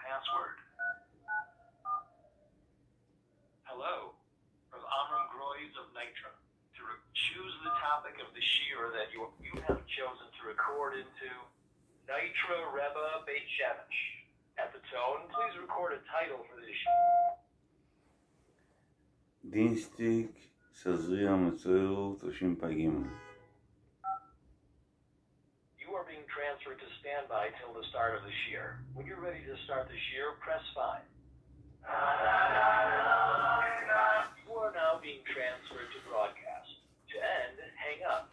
password. Hello, Rav Amram Groys of Nitra. To re- choose the topic of the shiur that you, you have chosen to record into Nitra Rebbe Beit Shemesh. At the tone, please record a title for this דינסטיג תזריע מצורע תשפ"ג. You are being transferred to standby till the start of the shiur. When you're ready to start the shiur, press 5. You are now being transferred to broadcast. To end, hang up.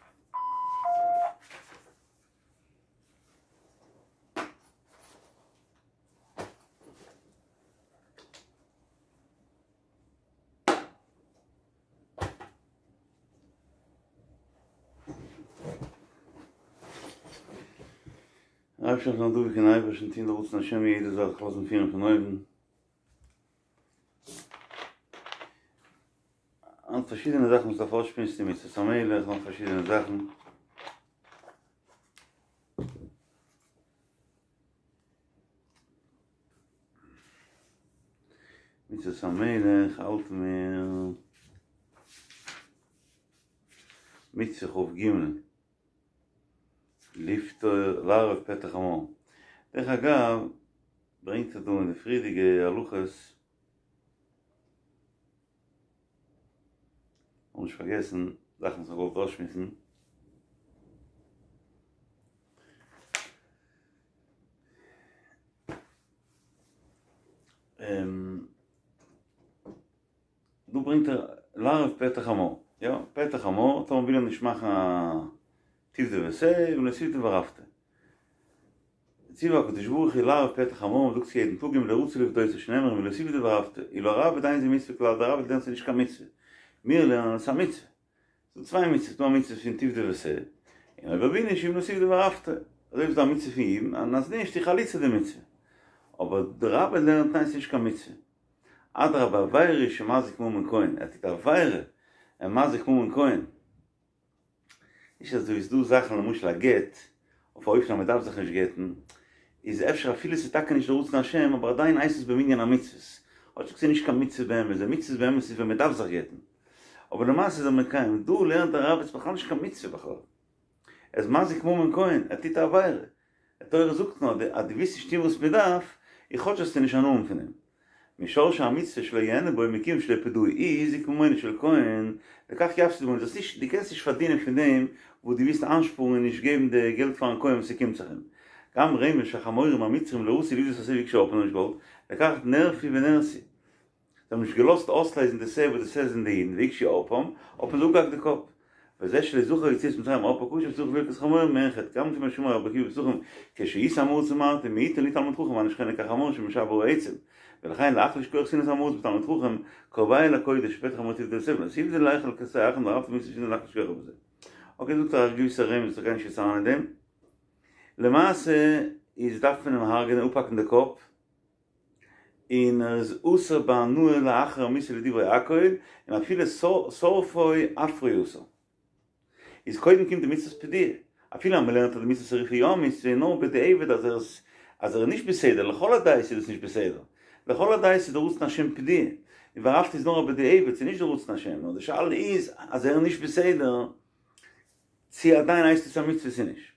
אייבערשטער זאל דבוק אין אייבערשטן טון די רצון השם יעדע זאך זיך לאזן פירן פון אויבן. היינט פארשידענע זאכן וואס דארף אויסשמועסן מצות המלך נאך פארשידענע זאכן. מצות המלך האלט מיר מצוה כ"ג לפתור לערב פטר חמור. דרך אגב ברענגט ער דא אין די פריערדיגע הלכות כ'האב נישט פארגעסן זאכן וואס כ'האב געוואלט אויסשמועסן. דא ברענגט ער לערב פטר חמור, יא, פטר חמור, טאמער וויל ער נישט מאכן א תפדה ושה, אם לא תפדה וערפת. ציווה הקדוש ברוך הוא לערב פטר חמור, מ'זאגט עס יעדן טאג אם לא רצה לפדותו שנאמר אם לא תפדה וערפת, אילו הראב"ד אין זו מצוה כלל, דער ראב"ד לערנט ס'איז נישט קיין מצוה, מיר לערנען עס איז א מצוה. ס'דא צוויי מצוות, ס'דא א מצוה פון תפדה ועשה, און אויב ער וויל נישט אם לא תפדה וערפת, אזוי ווי ס'דא א מצוה פון יבום, און אז נישט איז חליצה די מצוה. אבער דער ראב"ד לערנט ניין ס'נישט קיין מצוה. אדרבה עבירה שמזיק ממון כהן, ער טוט א עבירה, ער מזיק ממון כהן. נישט אזוי ווי ס'דא זאכן למשל א גט, אויף א אופן אז מ'דארף זיך נישט גט'ן, איז אפשר אפילו ס'איז טאקע נישט די רצון השם אבער עדיין הייסט עס במנין המצוות, כאטשיג ס'איז נישט קיין מצוה באמת, די מצוות באמת איז ווען מ'דארף זיך גט'ן. אבער למעשה איז ער מקיים, דא לערנט דער ראב"ד ס'איז בכלל נישט קיין מצוה בכלל. ער איז מזיק ממון כהן, ער טוט א עבירה. די תורה זאגט נאר אז דו ווילסט נישט טון וואס מ'דארף, איז כאטש זאלסטו נישט הנאה האבן פון דעם. משרשי המצוה שלא יהנה בו מכיוון שלא פדאו הזיק ממונו של כהן, לכך יפסיד ממונו, דאס נישט, דו קענסט נישט פארדינען פון דעם וואס דו ווילסט איינשפארן און נישט געבן די געלט פארן כהן וואס ס'קומט זיך אים. גם רמז שהחמורים המצרים לא רצו לפדות השה והקשו ערפם נישט געוואלט, לכך נרפו ונהרסו. זיי האבן נישט געלאזט אויסלייזן די שה וואס די שה זענען די אידן, והקשו ערפם, האט מען זיי אפגעהאקט די קאפ. וזה שלא זכר יציאת מצרים ערפו קשה וצריך לברכת חמורים מעין חטא גם לפי מה שאמר רבי עקיבא בפסחים כשהייתי עם הארץ אמרתי מעיטין לי תלמיד חכם ואני שוכן כחמור שמשבר העצם ולכן להחליש כח שנאת עם הארץ בתלמיד חכם קרבהו לקודש פטר חמור תפדה ושה ואם לא תפדה לאכול כשה אחר וערפת מצוה שאינה להחליש כוחו בזה. אקעי זאגט ער א געוויסע רמז איך גיי נישט יעצט אריין אין דעם. למעשה איז דארף מען אים הרג'נען אפהאקן די קאפ און ער איז אסור בהנאה לאחר המיתה לדברי הכל, און אפילו שורפו אפרו אסור. איז קודם קומט די מצוות פדיה, אפילו אז מ'לערנט אז די מצוות שריפה יא א מצוה, איז נאר בדיעבד אז ער איז אז ער איז נישט בסדר, לכל הדעות איז דאס נישט בסדר, לכל הדעות איז די רצון השם פדיה, און וערפת איז נאר א בדיעבד, ס'איז נישט די רצון השם, נאר די שאלה איז אז ער איז נישט בסדר, צו עדיין הייסט עס א מצוה צו נישט.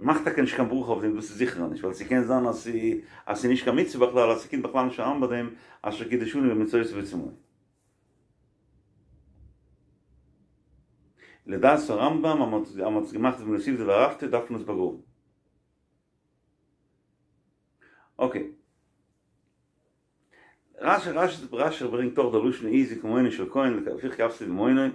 מ'מאכט טאקע נישט קיין ברכה אויף דעם, דאס איז זיכער נישט, ווייל ס'קען זיין אז אז ס'איז נישט קיין מצוה בכלל, אז ס'קומט בכלל נישט אריין ביי דעם אשר קידשנו במצוותיו וצונו. לדעת הרמב"ם אז מ'האט עס געמאכט אם לא תפדה וערפת דארף מען עס באגראבן. אקעי. רש"י רש"י רש"י ברענגט אויך די לשון הזיק ממונו של כהן לפיכך יפסיד ממונו. מען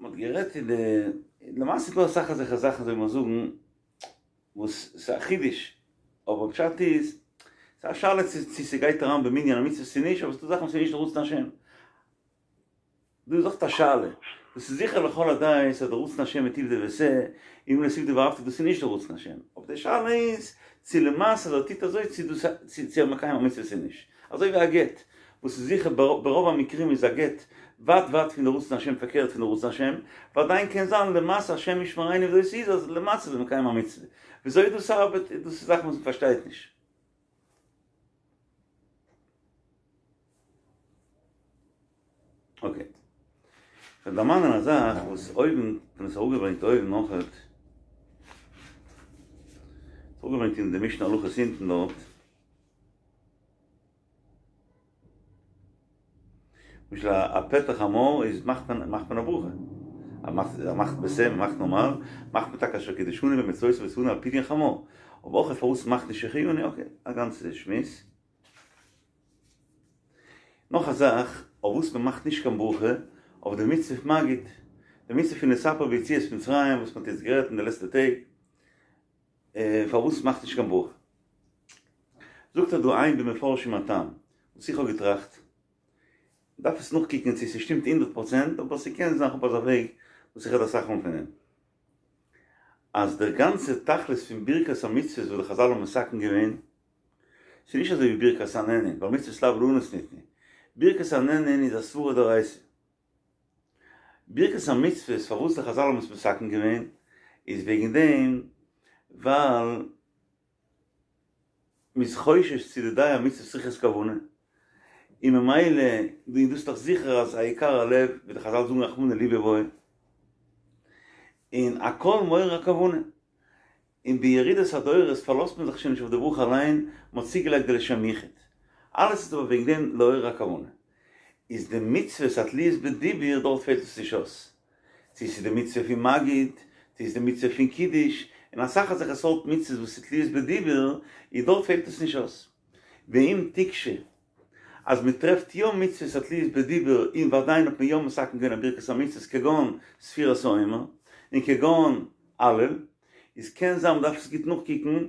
האט גערעדט אין די, למעשה איז דא אסאך אזעלכע זאכן זאל מען זאגן וואס ס'איז א חידוש, אבער פשט איז, ס'איז א שאלה צו ס'גייט אריין במנין המצוות צו נישט, אבער ס'דא זאכן וואס איז נישט רצון השם. דא איז אויך א שאלה, דאס איז זיכער לכל הדעות אז די רצון השם איז תפדה ועשה, אם לא תפדה וערפת דאס איז נישט די רצון השם, אבער די שאלה איז צו למעשה אז ער טוט אזוי צו דאס צו ער מקיים א מצוה צו נישט, אזוי ווי א גט, וואס איז זיכער ברוב המקרים איז א גט ווייט ווייט פון די רצון השם פארקערט פון די רצון השם, ועדיין קען זיין למעשה השם ישמרינו וויאזוי ס'איז אז למעשה איז מען מקיים א מצוה. וויאזוי דאס ארבעט דאס איז זאכן וואס מ'פארשטייט נישט. אקעי. כ'וועל דערמאנען א זאך וואס אויבן, כ'האב עס אראפגעברענגט אויבן אויכעט. אראפגעברענגט אין די משנה הלכות אונטן דארט. למשל א פטר חמור איז מאכט מען מאכט מען א ברכה. אז מאכט אז מאכט בשה מ'מאכט נארמאל, מאכט מען טאקע אשר קדשנו במצותיו וצונו על פדיון חמור. אבער אויך פארוואס מאכט נישט שהחיינו, אקעי, א גאנצע שמועס. נאך א זאך אויף וואס מען מאכט נישט קיין ברכה, אויף די מצוה פון מגיד, די מצוה פון לספר ביציאת מצרים וואס מען האט יעצט גערעדט אין די לעצטע טעג, פארוואס מאכט נישט קיין ברכה? זאגט ער דא עיין במפרשים הטעם, וואס איך האב געטראכט, מ'דארף עס נאכקוקן צו ס'שטימט הונדערט פראצענט, אבער ס'קען זיין כ'האב אזא וועג וואס איך רעד אסאך מאל פון דעם, אז דער גאנצע תכלית פון ברכת המצוות וואס די חזל האבן מתקן געווען, ס'איז נישט אזוי ווי ברכת הנהנין, ווייל מצוות לאו ליהנות ניתנו. ברכת הנהנין איז א סברא דאורייתא. ברכת המצוות פארוואס די חזל האבן עס מתקן געווען, איז וועגן דעם ווייל מ'איז חושש צו די דיי המצוות צריכות כוונה, און ממילא און דאס איז דאך זיכער אז העיקר הלב, ווי די חזל זאגן רחמנא ליבא בעי, און הכל מעורר הכוונה. און בירידת הדורות פארלאזט מען זיך שוין נישט אויף די ברכה אליין, מען האט צוגעלייגט די לשם יחוד. אלעס איז אבער וועגן דעם לעורר הכוונה. איז די מצוות התלויות בדיבור דארט פעלט עס נישט אויס. צו ס'איז די מצוה פון מגיד, צו ס'איז די מצוה פון קידוש, און אסאך אזעלכע סארט מצוות וואס איז תלויות בדיבור, איז דארט פעלט עס נישט אויס. ואם תקשה, אז מען טרעפט יא מצוות התלויות בדיבור און ועדיין האט מען יא מתקן געווען א ברכת המצוות כגון ספירת העומר, און כגון הלל, איז קען זיין מ'דארף עס גוט נאכקוקן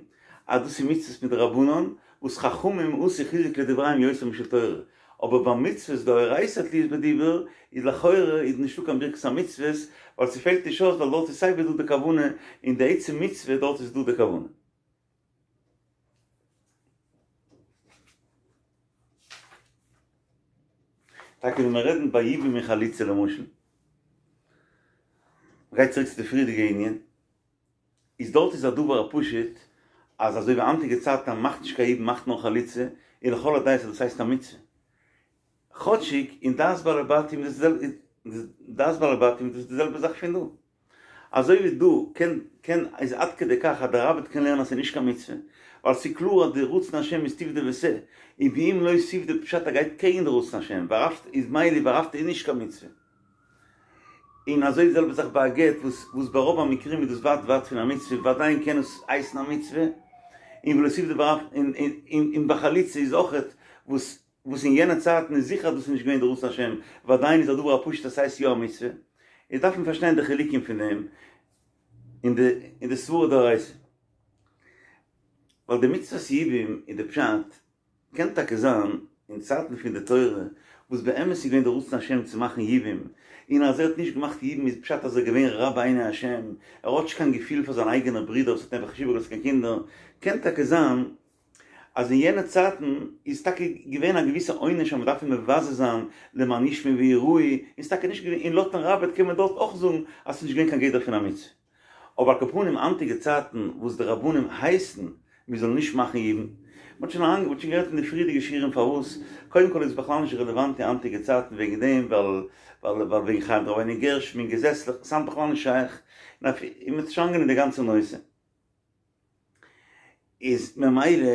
אז דאס איז מצוות מדרבנן וואס חכמים עשו חיזוק לדבריהם יותר משל תורה, אבער ביי מצוות דאורייתא התלויות בדיבור איז לכאורה איז נישטא קיין ברכת המצוות ווייל ס'פעלט נישט אויס ווייל דארט איז סייווי דא די כוונה אין די עצם מצוה דארט איז דא די כוונה. טאקע ווען מיר רעדן ביי יבום און חליצה למשל, מ'גייט צוריק צו די פריערדיגע ענין, איז דארט איז א דבר הפשוט אז אזוי ווי היינטיגע צייטן אז מ'מאכט נישט קיין יבום מ'מאכט נאר חליצה, און לכל הדעות אז דאס הייסט א מצוה. כאטשיג אין דעת בעלי בתים איז דעת בעלי בתים איז דאס די זעלבע זאך פון דא. אזוי ווי דא קען קען איז עד כדי כך אז דער ראב"ד קען לערנען אז ס'איז נישט קיין מצוה, ווייל ס'איז קלאר אז די רצון השם איז תפדה ועשה, און ואם לא תפדה פשט ער גייט קעגן די רצון השם, וערפת איז מילא וערפת איז נישט קיין מצוה. און אזוי די זעלבע זאך ביי א גט וואס וואס ברוב המקרים איז דאס ווייט ווייט פון א מצוה ועדיין קען עס הייסן א מצוה, און ולא תפדה וערפת און און און ביי חליצה איז אויכעט וואס וואס אין יענע צייטן איז זיכער אז דאס איז נישט געווען די רצון השם, ועדיין איז א דבר הפשוט אז ס'הייסט יא א מצוה, איז דארף מען פארשטיין די חילוקים פון דעם אין די אין די סברא דאורייתא. ווייל די מצוות יבום איז די פשט, קען טאקע זיין אין צייטן פון די תורה וואס באמת איז געווען די רצון השם צו מאכן יבום, און אז ער האט נישט געמאכט יבום איז פשט אז ער איז געווען רע בעיני השם, ער האט נישט קיין געפיל פאר זיין אייגענער ברודער וואס האט נעבעך נישט איבערגעלאזט קיין קינדער, קען טאקע זיין אז אין יענע צייטן איז טאקע געווען א געוויסע עונש אז מען דארף אים מבזה זיין למען ישמעו ויראו, און ס'איז טאקע נישט געווען, און לויטן ראב"ד קען מען דארט אויך זאגן אז ס'איז נישט געווען קיין גדר פון א מצוה. אבער על כל פנים היינטיגע צייטן וואס די רבנים הייסן מען זאל נישט מאכן יבום, מען האט שוין לאנג, מען האט שוין גערעדט אין די פריערדיגע שיעורים פארוואס, קודם כל איז עס בכלל נישט רעלעוואנט אין היינטיגע צייטן וועגן דעם ווייל ווייל ווייל וועגן חיים דרבינו גרשום און געזעצליך, ס'היינט בכלל נישט שייך, און מען האט שוין אנגענומען די גאנצע נושא. איז ממילא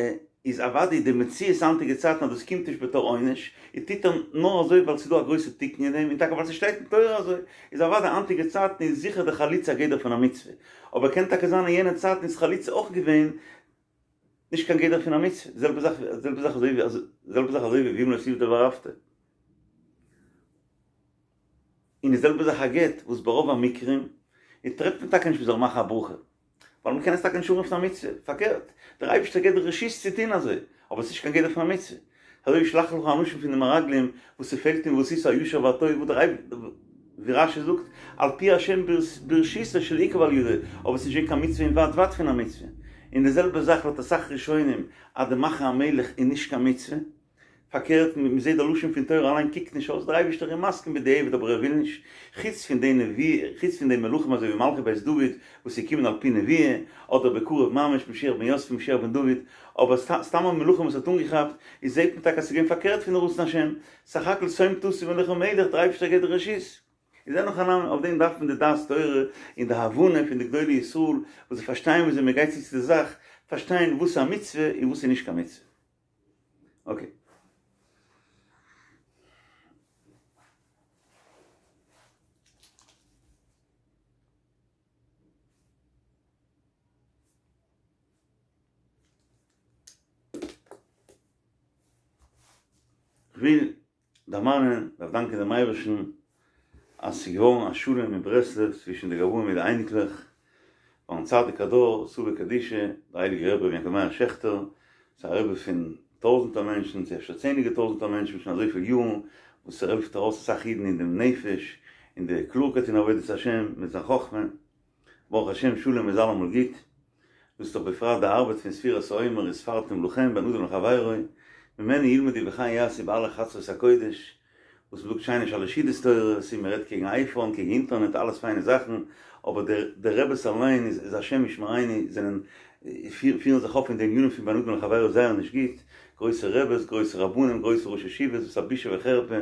איז אוודאי די מציאות היינטיגע צייטן אז דאס קומט נישט בתור עונש, און טוט ער נאר אזוי ווייל ס'איז דא א גרויסע תיקון אין דעם, און טאקע ווייל ס'שטייט אין תורה אזוי, איז אוודאי היינטיגע צייטן איז זיכער די חליצה א גדר פון א מצוה, אבער קען טאקע זיין אין יענע צייטן איז חליצה אויך געווען נישט קיין גדר פון א מצוה, די זעלבע זאך די זעלבע זאך אזוי ווי די זעלבע זאך אזוי ווי ואם לא תפדה וערפת. און די זעלבע זאך א גט וואס ברוב המקרים איז טרעפט מען טאקע נישט מ'זאל מאכן א ברכה. ווייל מ'קען עס טאקע נישט אנרופן א מצוה, פארקערט, דער אייבערשטער געבט די רשות צו טון אזוי, אבער עס איז נישט קיין גדר פון א מצוה. אזוי ווי שלח לך אנשים פון די מרגלים וואס ס'פעלט אין ועשית הישר והטוב וואס דער אייבערשטער, ווי רש"י זאגט, על פי השם ברשותו שלא עיכב על ידו, אבער עס איז נישט געווען קיין מצוה און ווייט ווייט פון א מצוה. און די זעלבע זאך לויט אסאך ראשונים אז די מאכן א מלך איז נישט קיין מצוה. פארקערט מען זעט די לשון פון תורה אליין קוקט נישט אויס דער אייבערשטער איז מסכים בדיעבד אבער ער וויל נישט, חוץ פון די נביא חוץ פון די מלכים אזוי ווי מלכי בית דוד וואס איז געקומען על פי נבואה, אדער בקרוב ממש משיח בן יוסף משיח בן דוד, אבער סתם א מלכים וואס האט אנגעכאפט, איז זעט מען טאקע אז ס'איז געווען פארקערט פון רצון השם, סך הכל שום תשים עליך מלך דער אייבערשטער געבט די רשות. איז אין הכי נמי, אויף דעם דארף מען די דעת תורה און די הבנה פון די גדולי ישראל וואס זיי פארשטייען וויאזוי מען גייט צו צו די זאך, פארשטיין וואס איז א מצוה און וואס איז נישט קיין מצוה. אקעי. כ'וויל דערמאנען, דארף דאנקען דעם אייבערשטן אז ס'איז געווארן א שלום אין ברסלב צווישן די גבאים מיט די אייניקלעך, פארן צדיק הדור, סבא קדישא, דער הייליגער רבי רבי יעקב מאיר שעכטער, ס'איז א רבי פון טויזנטער מענטשן, צו אפשר צענדליגער טויזנטער מענטשן שוין אזויפיל יארן, וואס ער העלפט ארויס אסאך אידן אין דעם נפש, אין די קלארקייט אין עבודת השם, מיט זיין חכמה. ברוך השם שלום איז אלעמאל גוט, דאס איז דאך בפרט די ארבעט פון ספירת העומר וספרתם לכם בין אדם לחבירו, ממנו ילמדו וכן יעשו באלע חצרות הקודש, וואס מ'זאגט שיינע שלש סעודות תורות, און מ'רעדט קעגן אייפאון, קעגן אינטערנעט, אלעס פיינע זאכן, אבער די די רעבעס אליין איז איז השם ישמרינו זענען פירן זיך אויף אין די ענינים פון בין אדם לחבירו זייער נישט גוט, גרויסע רעבעס, גרויסע רבנים, גרויסע ראשי ישיבות, וואס א בושה וחרפה,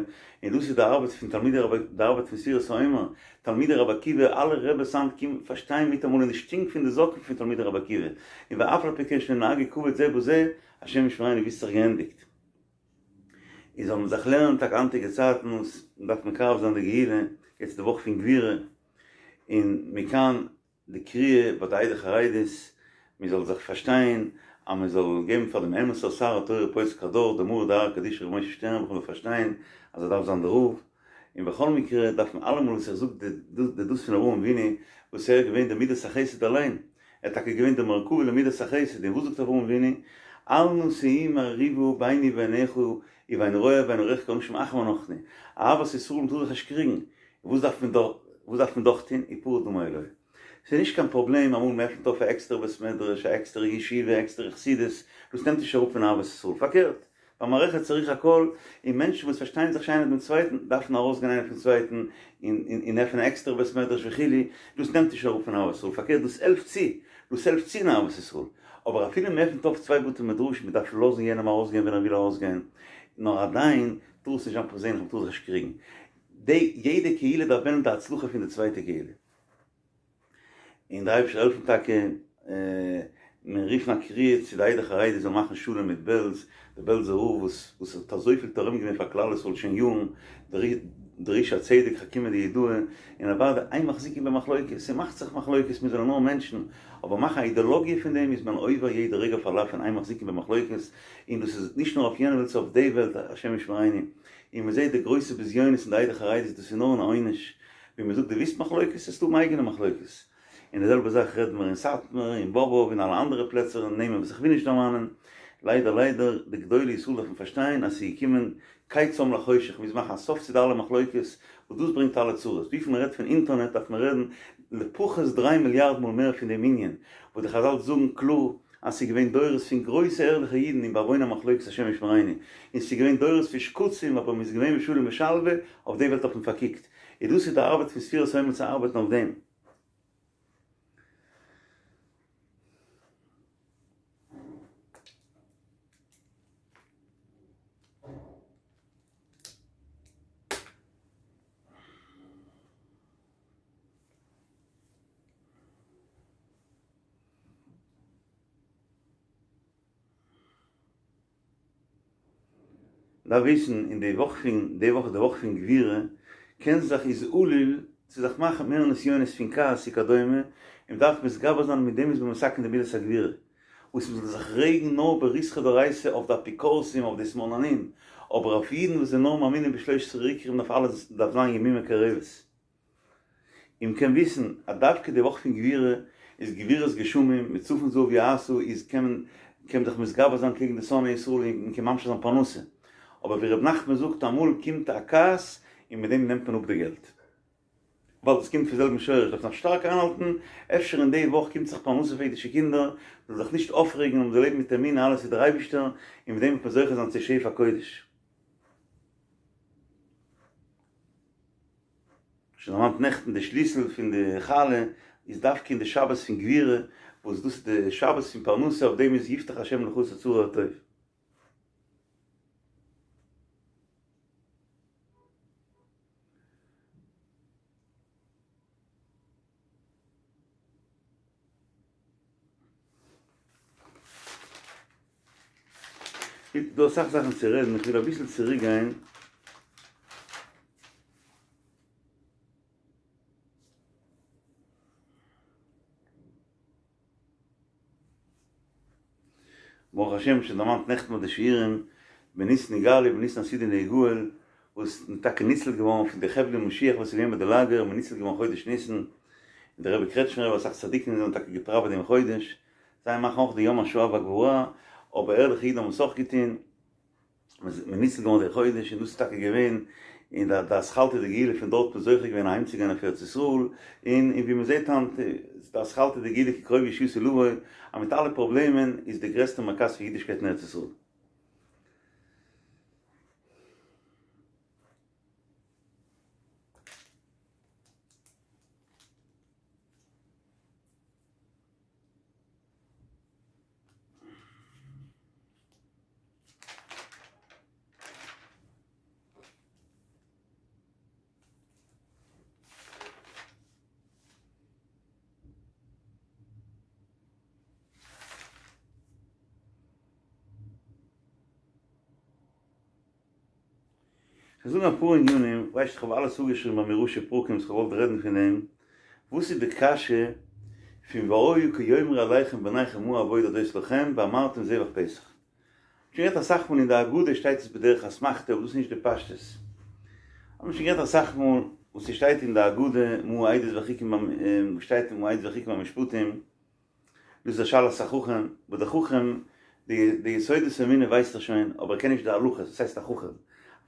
און דאס איז די ארבעט פון תלמידי רבי, די ארבעט פון ספירת העומר, תלמידי רבי עקיבא, אלע רעבעס היינט קומען פארשטיין מיטאמאל אין די שטינק פון די זאקן פון תלמידי רבי עקיבא, און ואף על פי כן שלא נהגו כבוד זה בזה, השם ישמרינו ווי ס'האט זיך געענדיגט. און זאל מען זיך לערנען טאקע היינטיגע צייטן וואס מ'דארף מקרב זיין די גאולה, יעצט די וואך פון גבורה, און מכאן די קריאה ביי די עדה חרדית, מען זאל זיך פארשטיין אז מען זאל געבן פאר דעם אמת'ער שר התורה פוסק הדור דער מרא דאתרא קדישא ר' משה שטערנבוך זאל פארשטיין אז ער דארף זיין דער רב, און בכל מקרה דארף מען אלעמאל וואס איך זאג די דאס פון אברהם אבינו וואס ער איז געווען די מידת החסד אליין, ער איז טאקע געווען די מרכבה למידת החסד, און וואס זאגט אברהם אבינו, אל נא תהי מריבה ביני וביניך ובין רועי ובין רועיך כי אנשים אחים אנחנו, אהבת ישראל מ'טאר זיך נישט קריגן, וואס דארף מען דאך וואס דארף מען דאך טון? ופרד דמי אלוהי. ס'איז נישט קיין פראבלעם אמאל מ'עפנט אויף א עקסטערע בית מדרש, א עקסטערע ישיבה, א עקסטערע חסידות, דאס נעמט נישט אראפ פון אהבת ישראל, פארקערט, במערכת צריך הכל, און מענטשן וואס פארשטייען זיך נישט איינער דעם צווייטן, דארפן ארויסגיין איינער פון צווייטן, און און עפענען א עקסטערע בית מדרש וכו', דאס נעמט נישט אראפ פון אהבת ישראל, פארקערט דאס העלפט צו, דאס העלפט צו אין אהבת ישראל. אבער אפילו מ'עפנט אויף צוויי בתי מדרשים, מ'דארף לאזן יענעם ארויסגיין ווען ער וויל ארויסגיין, נאר עדיין טאר עס נישט זיין פערזענליך, מ'טאר זיך נישט קריגן. די יעדע קהילה דארף וועלן די הצלחה פון די צווייטע קהילה. און דער אייבערשטער זאל העלפן טאקע מיר רופן א קריאה צו די עדה חרדית זאל מאכן שלום מיט בעלז, דער בעלזער רב וואס וואס האט אזויפיל תורם געווען פאר כלל ישראל שוין יארן, דער איש הצדק חכימא דיהודאי, און אוודאי אין מחזיקים במחלוקת, ס'מאכט זיך מחלוקת מיר זענען נאר מענטשן, אבער מאכן א אידעלאגיע פון דעם איז מען עובר יעדע רגע אויף א לאו פון אין מחזיקים במחלוקת, און דאס איז נישט נאר אויף יענע וועלט ס'איז אויף די וועלט השם ישמרינו. און מען זעט די גרויסע בזיונות אין די עדה חרדית דאס איז נאר אן עונש, ווי מען זאגט דו ווילסט מחלוקת וועסטו האבן אייגענע מחלוקת, און די זעלבע זאך רעדן מיר אין סאטמאר אין באבוב און אלע אנדערע פלעצער און נעמען וואס איך וויל נישט דערמאנען, ליידער ליידער די גדולי ישראל דארפן פארשטיין אז ס'איז געקומען קץ לחושך מ'מוז מאכן א סוף צו די אלע מחלוקת וואס דאס ברענגט אלע צרות, וויפיל מען רעדט פון אינטערנעט דארף מען רעדן לפחות דריי מיליארד מאל מער פון דעם ענין, וואס די חזל זאגן קלאר אז ס'איז געווען דורות פון גרויסע ערליכע אידן און בעוון המחלוקת השם ישמרינו, און ס'איז געווען דורות פון שקצים אבער מ'איז געווען בשלום ושלווה, אויף די וועלט האט מען פארקוקט, און דאס איז די ארבעט פון ספירת העומר צו ארבעטן אויף דעם. דארף וויסן אין די וואך פון די וואך איז די וואך פון גבורה קען זיך איז עלול צו זיך מאכן מער נסיונות פון כעס וכדומה און מ'דארף מתגבר זיין מיט דעם איז מען מתקן די מידת הגבורה וואס מ'זאל זיך רעגן נאר בריתחא דאורייתא אויף די אפיקורסים אויף די שמאלנים אבער אויף אידן וואס זענען נאר מאמינים בשלושת עשרה עיקרים דארף אלעס דארף זיין ימימה קרבת. און מ'קען וויסן אז דווקא די וואך פון גבורה איז גבורות גשמים, מצפון זהב יעשה איז קען מען קען מען זיך מתגבר זיין קעגן די שונאי ישראל און מ'קען ממשיך זיין פרנסה, אבער ווי ר' נחמן זאגט אמאל קומט א כעס און מיט דעם נעמט מען אפ די געלט. ווייל דאס קומט פון זעלבן שורש דארף זיך שטארק איינהאלטן, אפשר אין די וואך קומט זיך פרנסה פאר אידישע קינדער, זאל זיך נישט אויפרעגן און מ'זאל לעבן מיט אמונה אלעס איז דער אייבישטער, און מיט דעם וועט מען זוכה זיין צו שפע קודש. שוין דערמאנט נעכטן די שליסל פון די חלה איז דווקא אין די שבת פון גבורה וואס דאס איז די שבת פון פרנסה אויף דעם איז יפתח השם לך את אוצרו הטוב. דא אסאך זאכן צו רעדן, איך וויל אביסל צוריק גיין. ברוך השם שוין דערמאנט נעכטן ביי די שיעורים, בניסן נגאלו ובניסן עתידין להיגאל, וואס מ'איז טאקע ניצל געווארן פון די חבלי משיח וואס איז געווען ביי די לאגער, מ'איז ניצל געווארן חודש ניסן, און דער רבי קרעטשמער רבי אסאך צדיקים זענען טאקע געפראוועט דעם חודש, זיי מאכן אויך די יום השואה והגבורה, אבער ערליכע אידן האבן עס אויך געטון, מ'איז ניצל געווארן די חודש, און דאס איז טאקע געווען אין די די אתחלתא דגאולה פון דארט מ'איז זוכה געווען אהיימצוגיין אויף ארץ ישראל, און און ווי מ'זעט היינט איז די אתחלתא דגאולה כי קרובה ישועתי לבוא, אז מיט אלע פראבלעמען איז די גרעסטע מרכז פון אידישקייט אין ארץ ישראל. כ'וועל זאגן אפאר ענינים, ווייסט איך האב אלעס אפגעשריבן ביי מיר ראשי פרקים וואס כ'האב געוואלט רעדן פון דעם, וואס איז די קשיא פון והיה כי יאמרו אליכם בניכם מה העבודה הזאת לכם ואמרתם זבח פסח. שוין גערעדט אסאך מאל אין די הגדה שטייט עס בדרך אסמכתא אבער דאס איז נישט די פשטות. האט מען שוין גערעדט אסאך מאל וואס ס'שטייט אין די הגדה מה העדות והחוקים וואס שטייט מה העדות והחוקים והמשפטים דאס איז א שאלת החכם, וואס דער חכם, די די יסודות האמונה ווייסט ער שוין, אבער ער קען נישט די הלכות, וואס הייסט א חכם?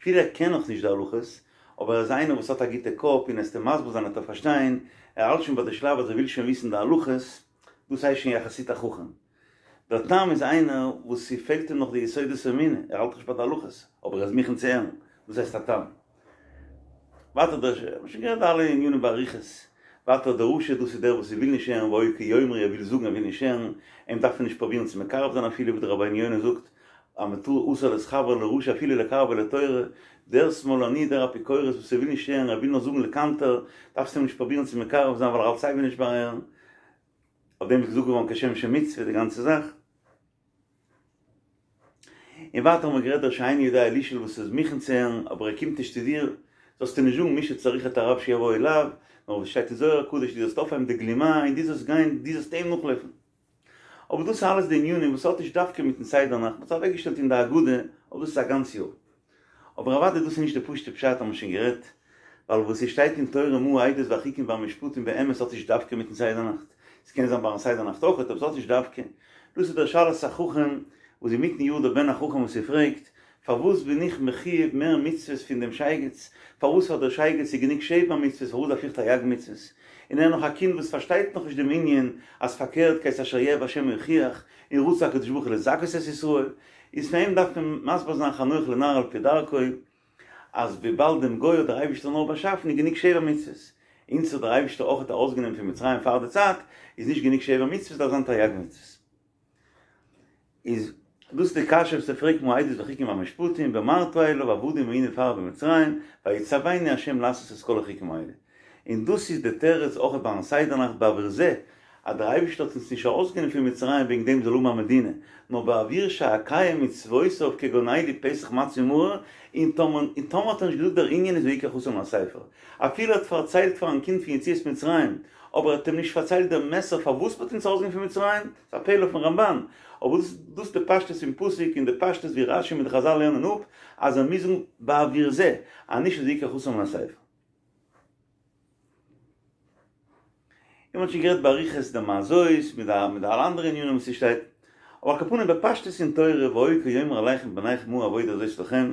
אפילו ער קען נאך נישט די הלכות, אבער ער איז איינער וואס האט א גוטע קאפ און וועסט אים מסביר זיין וועט ער פארשטיין, ער האלט שוין ביי די שלב אז ער וויל שוין וויסן די הלכות, דאס הייסט שוין יחסית א חכם. דער תם איז איינער וואס ס'פעלט אים נאך די יסודות האמונה, ער האלט נישט ביי די הלכות, אבער ער איז מוכן צו הערן, דאס הייסט א תם. ווייטער דער ש, מ'האט שוין גערעדט די אלע ענינים באריכות. ווייטער דער רשע, דאס איז דער וואס וויל נישט הערן, והיה כי יאמרו, ער וויל זאגן ער וויל נישט הערן, אים דארף מען נישט פרובירן צו מקרב זיין אפילו, ווי דער רבינו יונה זאגט, אז מ'טאר אסור להתחבר לרשע אפילו לקרבו לתורה, דער שמאלני, דער אפיקורס וואס ער וויל נישט הערן, ער וויל נאר זאגן לקנטר, דארפסט אים נישט פרובירן צו מקרב זיין ווייל ער האלט סייווי נישט ביי הערן. אויף דעם איז געזאגט געווארן כשם שמצוה די גאנצע זאך. און ווייטער האבן מיר גערעדט דער שאינו יודע לשאול וואס איז מוכן צו הערן אבער ער קומט נישט צו דיר, זאלסטו נישט זאגן מי שצריך את הרב שיבוא אליו, נאר ווי שטייט אין זוהר הקדוש דו זאלסט אויפהייבן די גלימה און דו זאלסט גיין, דו זאלסט אים נאכלויפן. אבער דאס איז אלעס די ענינים וואס האט נישט דווקא מיטן סדר נאכט, מ'האט עס אוועקגעשטעלט אין די הגדה, אבער דאס איז א גאנץ יאר. אבער אוודאי דאס איז נישט די פשוט'ע פשט האבן מיר שוין גערעדט, ווייל וואס עס שטייט אין תורה מה העדות והחוקים והמשפטים באמת האט נישט דווקא מיטן סדר נאכט, עס קען זיין ביים סדר נאכט אויכעט אבער עס האט נישט דווקא, דאס איז דער שאלת החכם וואס אינמיטן יאר דער בן החכם וואס ער פרעגט, פארוואס בין איך מחויב מער מצוות פון דעם שייגעץ, פארוואס פאר דער שייגעץ איז גענוג שבע מצוות פארוואס דארף איך תרי"ג מצוות, און ער נאך א קינד וואס פארשטייט נאך נישט דעם ענין אז פארקערט כי את אשר יאהב השם יוכיח, און רצה הקדוש ברוך הוא לזכות את ישראל, איז פאר אים דארף מען מסביר זיין חנוך לנער על פי דרכו, אז וויבאלד דעם גוי האט דער אייבישטער נאר באשאפן איז גענוג שבע מצוות, אונז האט דער אייבישטער אויכעט ארויסגענומען פון מצרים פאר די צייט, איז נישט גענוג שבע מצוות דארף זיין תרי"ג מצוות. איז דאס די קשיא וואס ער פרעגט מה העדות והחוקים והמשפטים ואמרת אליו עבדים היינו לפרעה במצרים ויצונו ה' לעשות את כל החוקים האלה און דאס איז די תירוץ אויכעט ביים סדר נאכט בעבור זה אז דער אייבערשטער האט אונז נישט ארויסגענומען פון מצרים וועגן דעם זאל האבן א מדינה, נאר בעבור שאקיים מצוותיו כגון אלו פסח מצה ומרור, און טאמער און טאמער האט ער נישט געזאגט דער ענין איז ויקח חתן הספר, אפילו ער האט פארציילט פארן קינד פון יציאת מצרים, אבער ער האט אים נישט פארציילט דער מסר פארוואס מ'האט אונז ארויסגענומען פון מצרים, ס'איז א פלא פון רמב"ן, אבער דאס דאס די פשטות פון פסוק און די פשטות ווי רש"י מיט די חז"ל לערנען אפ אז ער מוז זאגן בעבור זה, אז נישט איז ויקח חתן מן הספר. און מ'האט שוין גערעדט באריכות די מה זאת מיט די מיט די אלע אנדערע ענינים וואס ס'שטייט, אבער על כל פנים בפשטות אין תורה והיה כי יאמרו אליכם בניכם מה העבודה הזאת לכם,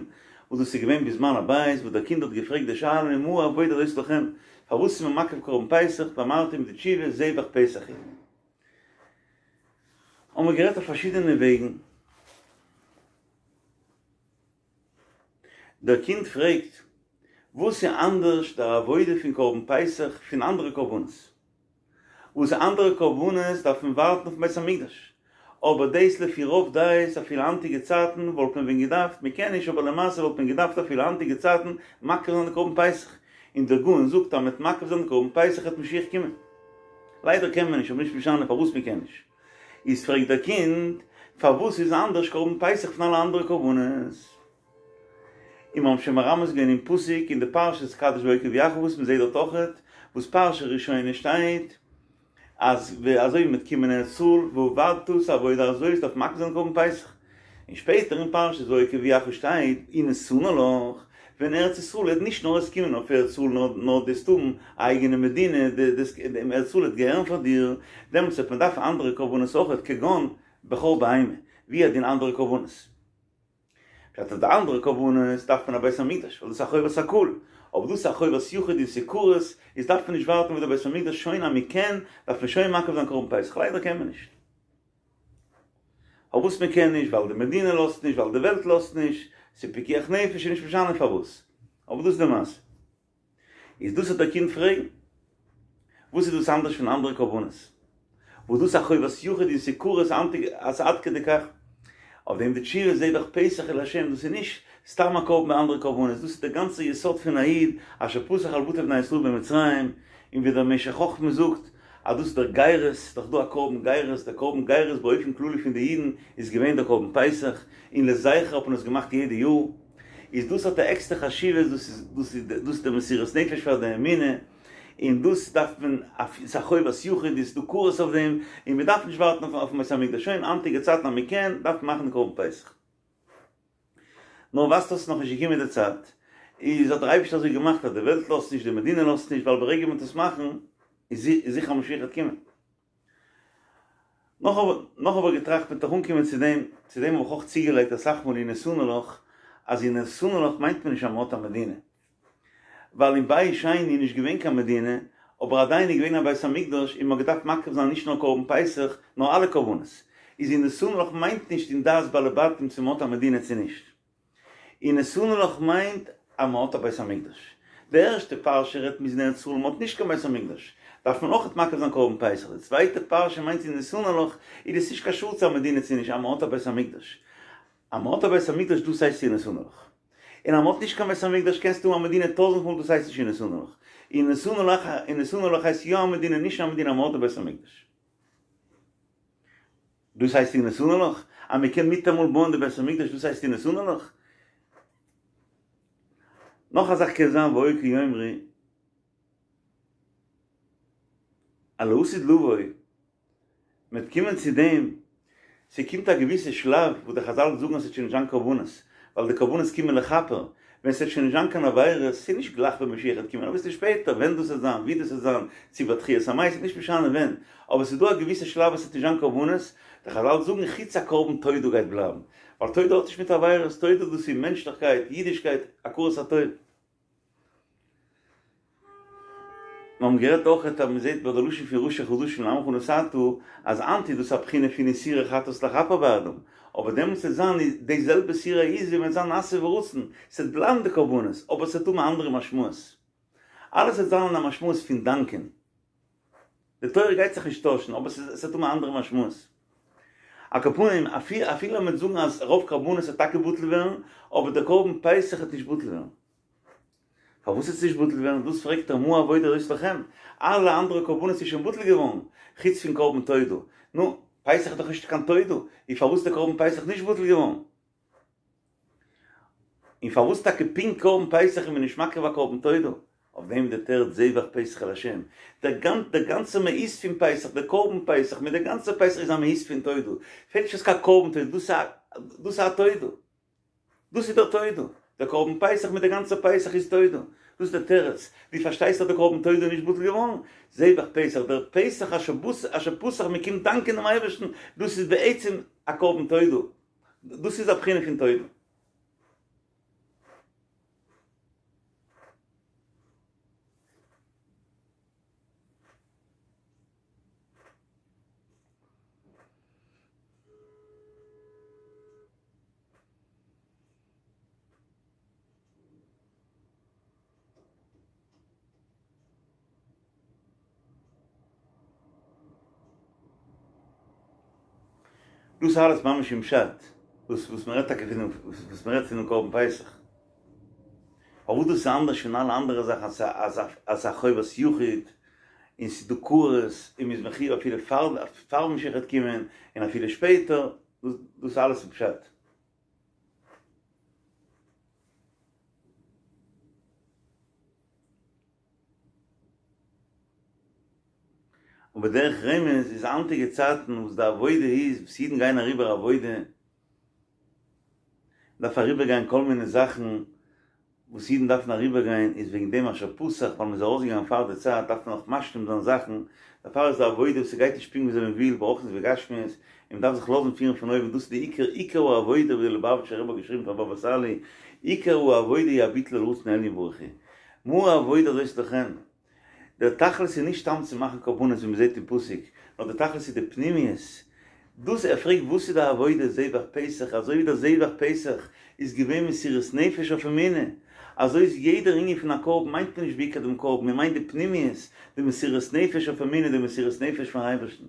וואס דאס איז געווען בזמן הבית וואס דער קינד האט געפרעגט די שאלה מה העבודה הזאת לכם, פארוואס איז מען מקריב קרבן פסח, ואמרתם די תשובה זבח פסח הוא. האבן מיר גערעדט אויף פארשידענע וועגן. דער קינד פרעגט. וואס איז אנדערש דער עבודה פון קרבן פסח פון אנדערע קרבנות? וואס אנדערע קרבנות דארף מען ווארטן אויפן בית המקדש, אבער דאס לפי רוב דעות אפילו היינטיגע צייטן וואלט מען ווען געדארפט, מען קען נישט אבער למעשה וואלט מען געדארפט אפילו היינטיגע צייטן מקריב זיין די קרבן פסח, און דער גאון זאגט אז מ'וועט מקריב זיין די קרבן פסח וועט משיח קומען. ליידער קען מען נישט אבער נישט משנה פארוואס מען קען נישט. איז פרעגט דער קינד פארוואס איז אנדערש קרבן פסח פון אלע אנדערע קרבנות? און מיר האבן שוין מרמז געווען אין פסוק אין די פרשת קדש והיה כי יביאך וואס מען זעט דארט אויכעט וואס פרשה ראשונה שטייט אז ווי אזוי מ'וועט קומען אין ארץ ישראל ועבדת את העבודה הזאת דארף מקריב זיין קרבן פסח און שפעטער אין פרשת והיה כי יביאך שטייט ונתנה לך ווען ארץ ישראל וועט נישט נאר עס קומען אויף ארץ ישראל נאר נאר דו וועסט האבן א אייגענע מדינה די ארץ ישראל וועט געהערן פאר דיר דעמאלטס וועט מען דארפן אנדערע קרבנות אויכעט כגון בכור בהמה והוא הדין אנדערע קרבנות. פשט אז די אנדערע קרבנות דארף מען א בית המקדש ווייל דאס איז א חובת הקהל, אבער דאס איז א חובת יחיד און ס'איז כרת, איז דארף מען נישט ווארטן ביז די בית המקדש שוין אז מען קען דארף מען שוין מקריב זיין קרבן פסח, ליידער קען מען נישט. פארוואס מען קען נישט? ווייל די מדינה לאזט נישט, ווייל די וועלט לאזט נישט, ס'איז פיקוח נפש איז נישט משנה פארוואס, אבער דאס איז די מעשה. איז דאס וועט דער קינד פרעגן, וואס איז דאס אנדערש פון אנדערע קרבנות? וואס דאס א חובת יחיד און ס'איז כרת אז עד כדי כך? אויף דעם די תשובה זבח פסח הוא לה', דאס איז נישט סתם א קרבן ווי אנדערע קרבנות, דאס איז דער גאנצער יסוד פון א איד, אשר פסח על בתי בני ישראל במצרים, און ווי דער משך חכמה זאגט אז דאס איז דער גירות, ס'איז דאך דא א קרבן גירות, דער קרבן גירות באופן כללי פון די אידן איז געווען דער קרבן פסח, און לזכר האט מען עס געמאכט יעדע יאר. איז דאס האט א עקסטער חשיבות, דאס איז דאס איז דאס איז די מסירות נפש פאר די אמונה, און דאס דארף מען, ס'איז א חובת יחיד, איז דא כרת אויף דעם, און מען דארף נישט ווארטן אויפן בית המקדש, שוין היינטיגע צייטן אז מען קען, דארף מען מאכן די קרבן פסח. נאר ווייזט אויס ס'איז נאכנישט געקומען די צייט, איז האט דער אייבערשטער אזוי געמאכט אז די וועלט לאזט נישט, די מדינה לאזט נישט, ווייל ברגע מען וועט עס מאכן, איז זיכער משיח וועט קומען. נאך נאך האב איך געטראכט מ'וועט דאך אנקומען צו דעם, צו דעם האב איך אויך צוגעלייגט אסאך מאל ונתנה לך, אז ונתנה לך מיינט מען נישט אז מ'האט א מדינה. ווייל אין בית שני איז נישט געווען קיין מדינה, אבער עדיין איז געווען א בית המקדש און מ'האט געדארפט מקריב זיין נישט נאר קרבן פסח, נאר אלע קרבנות. איז ונתנה לך מיינט נישט אין דעת בעלי בתים צו מ'האט א מדינה צו נישט. ונתנה לך מיינט אז מען האט א בית המקדש. די ערשטע פרשה רעדט מ'איז אין ארץ ישראל און מען האט נישט קיין בית המקדש, דארף מען אויכעט מקריב זיין קרבן פסח. די צווייטע פרשה מיינט ונתנה לך איז עס נישט קשור צו א מדינה צו נישט אז מען האט א בית המקדש. אז מען האט א בית המקדש דאס הייסט ונתנה לך. און אז מען האט נישט קיין בית המקדש קענסטו האבן א מדינה טויזענט מאל דאס הייסט נישט ונתנה לך. ונתנה לך ונתנה לך הייסט יא א מדינה נישט א מדינה אז מען האט א בית המקדש. דאס הייסט ונתנה לך? אז מען קען מיטאמאל בויען די בית המקדש דאס הייסט ונתנה לך? נאך א זאך קען זיין והיה כי יאמרו אז לעתיד לבוא מ'וועט קומען צו דעם, ס'קומט א געוויסע שלב וואס די חזל זאגן אז ס'וועט שוין נישט זיין קרבנות, ווייל די קרבנות קומען לכפר, ווען ס'וועט שוין נישט זיין קיין עבירות, ס'איז נישט גלייך ווען משיח וועט קומען, אביסל שפעטער, ווען דאס וועט זיין, ווי דאס וועט זיין, צו ביי תחיית המתים, נישט משנה ווען, אבער ס'איז דא א געוויסע שלב וואס ס'וועט נישט זיין קרבנות, די חזל זאגן חוץ א קרבן תודה גייט בלייבן, ווייל תודה האט נישט מיט עבירות, תודה דאס איז מענטשליכקייט, אידישקייט, הכרת הטוב. מיר האבן גערעדט אויכעט אז מ'זעט ביי די לשון פון ראשי חדשים לעמך נתתה אז היינט איז דאס א בחינה פון איסורי חטאת לכפר בעדם, אבער דעמאלטס וועט זיין די זעלבע שעיר העזים וועט זיין נעשה ורצון, ס'וועט בלייבן די קרבנות אבער ס'וועט האבן א אנדערע משמעות, אלעס וועט זיין אין א משמעות פון דאנקען, די תורה גייט זיך נישט טוישן אבער ס'וועט האבן א אנדערע משמעות. על כל פנים אפילו מ'וועט זאגן אז רוב קרבנות וועט טאקע בטל ווערן, אבער דער קרבן פסח וועט נישט בטל ווערן. פארוואס וועט עס נישט בטל ווערן? דאס פרעגט ער מה העבודה הזאת לכם? אלע אנדערע קרבנות איז שוין בטל געווארן, חוץ פון קרבן תודה. נו, פסח איז דאך נישט קיין תודה, איז פארוואס איז דער קרבן פסח נישט בטל געווארן? און פארוואס טאקע פונקט קרבן פסח איז מען נישט מקריב א קרבן תודה? אויף דעם די תירוץ זבח פסח לה'. דער גאנצער מהות פון פסח, דער קרבן פסח מיט דער גאנצער פסח איז א מהות פון תודה. פעלט נישט אויס קיין קרבן תודה, דאס איז א תודה. דאס איז דער תודה, דער קרבן פסח מיט דער גאנצער פסח איז תודה, דאס איז דער תירוץ, דו פארשטייסט אז דער קרבן תודה איז נישט בטל געווארן? זבח פסח, דער פסח אשר פסח מען קומט דאנקען דעם אייבערשטן, דאס איז בעצם א קרבן תודה, דאס איז א בחינה פון תודה. דאס אלעס ממש אין פשט וואס וואס מ'רעדט טאקע פון דעם וואס מ'רעדט פונעם קרבן פסח. פארוואס דאס איז אנדערש פון אלע אנדערע זאכן אז אז אז ס'איז א חובת יחיד און ס'איז דא כרת און מ'איז מחיוב אפילו פאר פאר משיח וועט קומען און אפילו שפעטער, דאס דאס אלעס איז פשט. און בדרך רמז איז היינטיגע צייטן וואס די עבודה איז וואס אידן גייען אריבער עבודה, מ'דארף אריבער גיין כל מיני זאכן וואס אידן דארפן אריבער גיין, איז וועגן דעם אשר פסח ווייל מ'איז ארויסגעגאנגען פאר די צייט דארף מען נאך משלים זיין זאכן, דערפאר איז די עבודה וואס ס'גייט נישט פונקט וויאזוי מ'וויל ברוחניות ובגשמיות, און מ'דארף זיך לאזן פירן פון אויבן, דאס איז די עיקר עיקר העבודה ווי דער ליובאוויטשער רבי האט געשריבן פאר באבא סאלי, עיקר העבודה היא הביטול אל רצון העליון ברוך הוא. מה העבודה הזאת לכם? דער תכלית איז נישט סתם צו מאכן קרבנות ווי מ'זעט אין פסוק, נאר דער תכלית איז די פנימיות. דאס ער פרעגט וואס איז די עבודה זבח פסח, אזוי ווי דער זבח פסח איז געווען מסירות נפש אויף אמונה, אזוי איז יעדער ענין פון א קרבן מיינט מען נישט בעיקר דעם קרבן, מען מיינט די פנימיות, די מסירות נפש אויף אמונה, די מסירות נפש פארן אייבערשטן.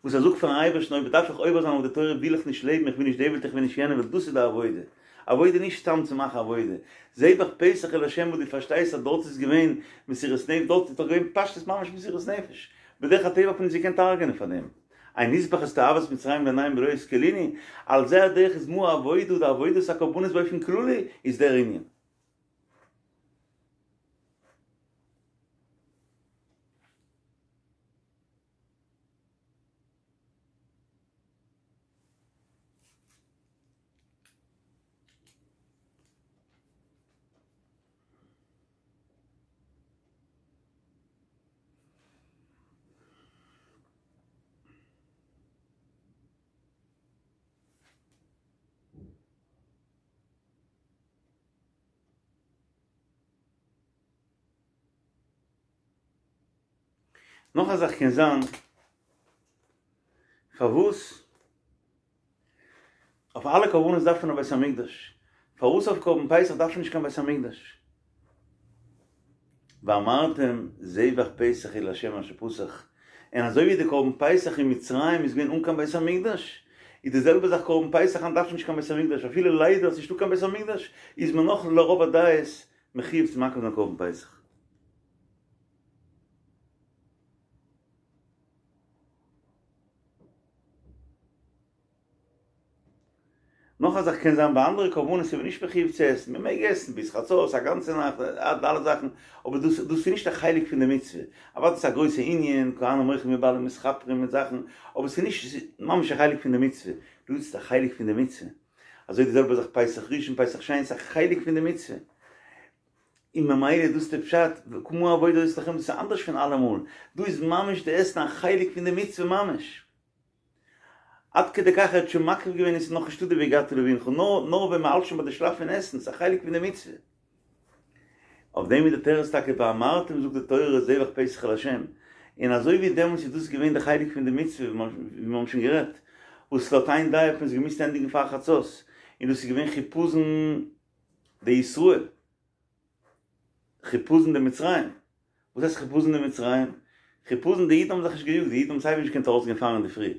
וואס ער זאגט פארן אייבערשטן אויב דארף איך עובר זיין אויף די תורה וויל איך נישט לעבן איך וויל נישט די וועלט איך וויל נישט יענע וועלט דאס איז די עבודה, עבודה נישט סתם צו מאכן עבודה, זבח פסח אל השם וואס דו פארשטייסט אז דארט איז געווען מסירות נפש דארט איז דאך געווען פשטות ממש מסירות נפש, בדרך הטבע האט מען נישט געקענט הרג'ענען פאר דעם, הן נזבח את תועבת מצרים לעיניהם ולא השכילוני, על זה הדרך איז מה העבודה די עבודת הקרבנות באופן כללי איז דער ענין. נאך א זאך קען זיין פארוואס אויף אלע קרבנות דארף מען א בית המקדש, פארוואס אויף קרבן פסח דארף מען נישט קיין בית המקדש? ואמרתם זבח פסח הוא לה' אשר פסח, און אזוי ווי די קרבן פסח אין מצרים איז געווען אן קיין בית המקדש, איז די זעלבע זאך קרבן פסח היינט דארף מען נישט קיין בית המקדש, אפילו ליידער ס'נישטא קיין בית המקדש איז מען נאך לרוב הדעות מחיוב צו מקריב זיין קרבן פסח. נאך א זאך קען זיין ביי אנדערע קרבנות איז מען נישט מחיוב צו עסן, מען מעג עסן ביז חצות א גאנצע נאכט אלע זאכן, אבער דאס דאס איז נישט א חלק פון די מצוה, אוודאי ס'איז א גרויסע ענין, כהנים אוכלים ובעלים מתכפרים מיט זאכן, אבער ס'איז נישט ממש א חלק פון די מצוה, דא איז עס א חלק פון די מצוה, אזוי די זעלבע זאך פסח ראשון פסח שני ס'איז א חלק פון די מצוה. און ממילא איז דאס די פשט, מה העבודה הזאת לכם, דאס איז אנדערש פון אלעמאל, דא איז ממש די עסן א חלק פון די מצוה ממש. עד כדי כך ער האט שוין מקריב געווען און ס'איז נאך נישטא די והגדת לבנך, נאר נאר ווען מ'האלט שוין ביי די שלב פון עסן, ס'איז א חלק פון די מצוה. אויף דעם איז די תירוץ טאקע ואמרתם זאגט די תורה זבח פסח לה', און אזוי ווי דעמאלטס איז דאס געווען די חלק פון די מצוה ווי מיר האבן שוין גערעדט, וואס לויט איין דעה האט מען עס געמוזט ענדיגן פאר חצות, און דאס איז געווען חיפזון דישראל, חיפזון דמצרים, וואס הייסט חיפזון דמצרים? חיפזון די אידן האבן זיך נישט געיאגט, די אידן האבן סייווי נישט געקענט ארויסגיין פאר אינדערפרי,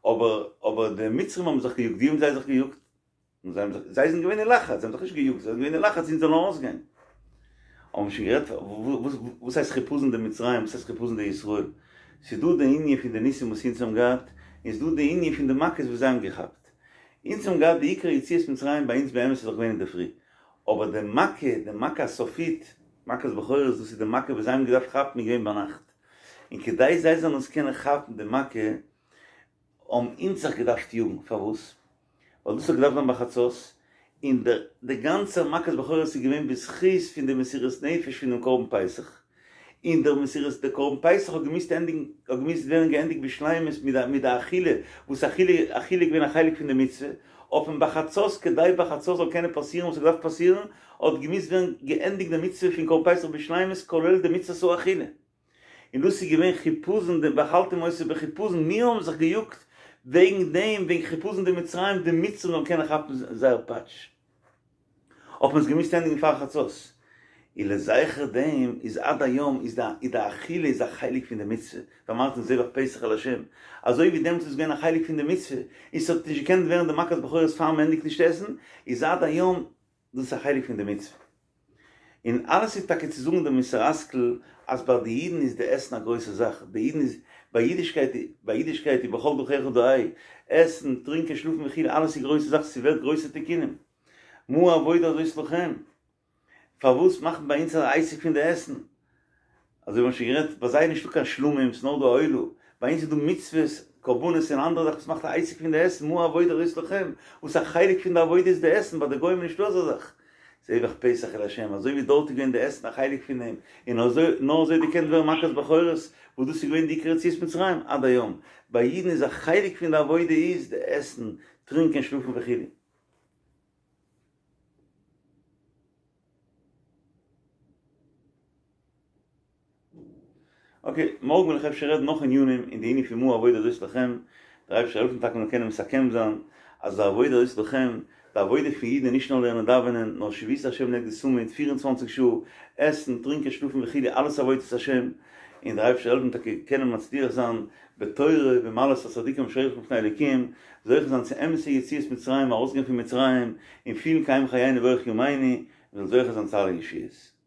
אבער אבער די מצרים האבן זיך געיאגט, ווי האבן זיי זיך געיאגט? זיי האבן זיך, זיי זענען געווען אין לחץ, זיי האבן זיך נישט געיאגט, זיי זענען געווען אין לחץ אונז זאלן ארויסגיין. האבן מיר שוין גערעדט וואס וואס הייסט חיפזון דמצרים, וואס הייסט חיפזון דישראל? ס'איז דא די ענין פון די ניסים וואס אונז האבן געהאט, און ס'איז דא די ענין פון די מכות וואס זיי האבן געכאפט. אונז האבן געהאט די עיקר יציאת מצרים ביי אונז באמת איז דאך געווען אינדערפרי, אבער די מכה, די מכה הסופית, מכת בכורות, דאס איז די מכה וואס זיי האבן געדארפט כאפן איז געווען ביינאכט, און כדי זיי זאלן עס קענען כאפן די מכה, האבן אונז זיך געדארפט יאגן, פארוואס? ווייל דאס האט געדארפט זיין ביי חצות, און דער די גאנצע מכת בכורות איז געווען בזכות פון די מסירות נפש פונעם קרבן פסח, און דער מסירות דער קרבן פסח האט געמוזט ענדיגן האט געמוזט ווערן געענדיגט בשלימות מיט די מיט די אכילה, וואס אכילה אכילה איז געווען א חלק פון די מצוה, האט מען ביי חצות כדי ביי חצות זאל קענען פאסירן וואס האט געדארפט פאסירן, האט געמוזט ווערן געענדיגט די מצוה פון קרבן פסח בשלימות כולל די מצוות האכילה. און דאס איז געווען חיפזון די ואכלתם אותו בחיפזון, מיר האבן זיך געיאגט וועגן דעם, וועגן חיפזון דמצרים, די מצרים זאלן קענען כאפן זייער פאטש, האט מען עס געמוזט ענדיגן פאר חצות. און לזכר דעם איז עד היום איז די איז די אכילה איז א חלק פון די מצוה, ואמרתם זבח פסח אל ה', אזוי ווי דעמאלטס איז געווען א חלק פון די מצוה, און ס'האט נישט געקענט ווערן די מכת בכורות פאר מ'ענדיגט נישט עסן, איז עד היום דאס איז א חלק פון די מצוה. און אלעס איז טאקע צו זאגן די מוסר השכל אז ביי די אידן איז די עסן א גרויסע זאך, ביי אידן איז, ביי אידישקייט, ביי אידישקייט איז בכל דרכיך דעהו, עסן, טרינקען, שלאפן וכו' אלעס איז גרויסע זאך, ס'ווערט גרויסע תיקונים. מה העבודה הזאת לכם? פארוואס מאכט מען ביי אונז א עסק פון די עסן? אזוי ווי מ'האט שוין גערעדט, ביי זיי איז נישטא קיין שלמים, ס'איז נאר דא א עולה, ביי אונז איז דא מצוות, קרבנות און אנדערע זאכן וואס מאכט א עסק פון די עסן, מה העבודה הזאת לכם? וואס א חלק פון די עבודה איז די עסן, ביי די גוים איז נישטא אזא זאך. זבח פסח אל ה', אזוי ווי דארט איז געווען די עסן א חלק פון דעם, און אזוי, נאר אזוי האט געקענט ווערן מכת בכורות, וואס דאס איז געווען די עיקר יציאת מצרים, עד היום. ביי אידן איז א חלק פון די עבודה איז די עסן, טרינקען, שלאפן וכו'. אקעי, מארגן וועל איך אפשר רעדן נאך ענינים אין די ענין פון מה העבודה הזאת לכם, דער אייבערשטער זאל העלפן טאקע מ'זאל קענען מסכם זיין אז די עבודה הזאת לכם, די עבודה פון אידן איז נישט נאר לערנען דאווענען, נאר שויתי השם לנגדי תמיד, 24 שעה, עסן, טרינקען, שלאפן וכו', אלעס עבודת השם, און דער אייבערשטער זאל העלפן טאקע קענען מצליח זיין בתורה ובמעלות הצדיקים אשר הולכים לפני אלוקים, זוכה זיין צו אמת'ע יציאת מצרים, ארויסגיין פון מצרים, און פילן קיים חיינו ואורך ימינו, און זאל זוכה זיין צו אלע ישועות.